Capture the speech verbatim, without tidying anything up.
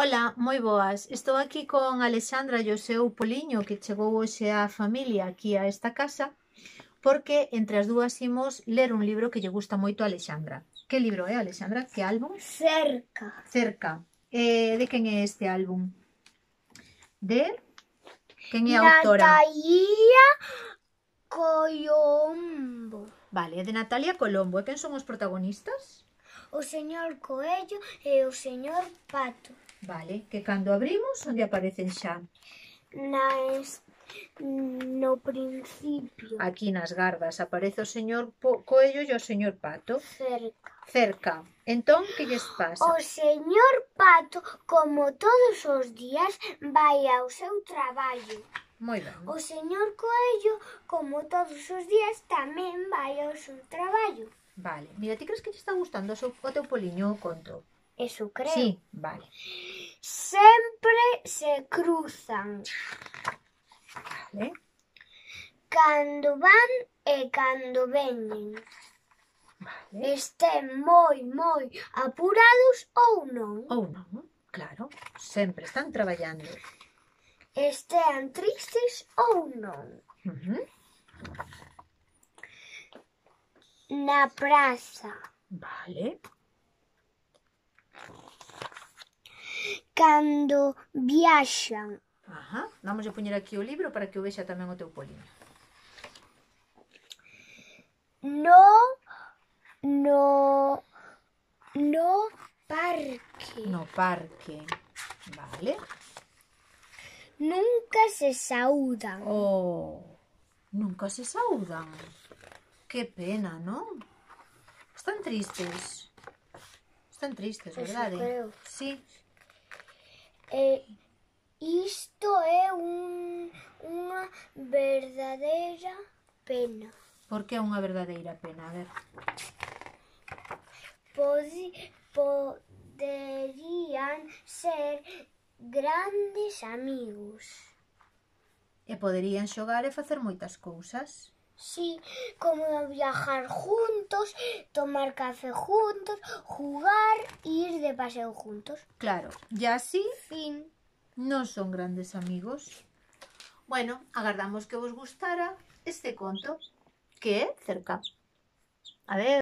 Ola, moi boas. Estou aquí con Alexandra e o seu poliño que chegou hoxe a familia aquí a esta casa porque entre as dúas imos ler un libro que lle gusta moito a Alexandra. Que libro é, Alexandra? Que álbum? Cerca. Cerca. Eh, de quen é este álbum? De? Quen é a autora? Natalia Colombo. Vale, é de Natalia Colombo. E quen son os protagonistas? O señor Coello e o señor Pato. Vale, que cando abrimos, onde aparecen xa? Na es... No principio. Aquí nas gardas aparece o señor Po- Coello e o señor Pato. Cerca. Cerca. Entón, que lles pasa? O señor Pato, como todos os días, vai ao seu traballo. Moi ben. O señor Coello, como todos os días, tamén vai ao seu traballo. Vale. Mira, ti crees que te está gustando o, seu, o teu poliño o conto? Eso creo. Sí, vale. Sempre se cruzan. Vale. Cando van e cando veñen. Vale. Estén moi, moi apurados ou non. Ou non, claro. Sempre están traballando. Estean tristes ou non. Uh -huh. Na praza. Vale. Cando viaxan. Ajá. Vamos a poñer aquí o libro para que o vexa tamén o teu poliño. No, no, no parque. No parque. Vale. Nunca se saúdan. Oh, nunca se saudan. Que pena, non? Están tristes. Están tristes, Eso verdade? creo. Sí. E isto é un, unha verdadeira pena. Por que é unha verdadeira pena? A ver. Podi, poderían ser grandes amigos. E poderían xogar e facer moitas cousas. Sí, como viajar juntos, tomar café juntos, jugar e ir de paseo juntos. Claro, e así Fin. non son grandes amigos. Bueno, agardamos que vos gustara este conto, que é Cerca. A ver.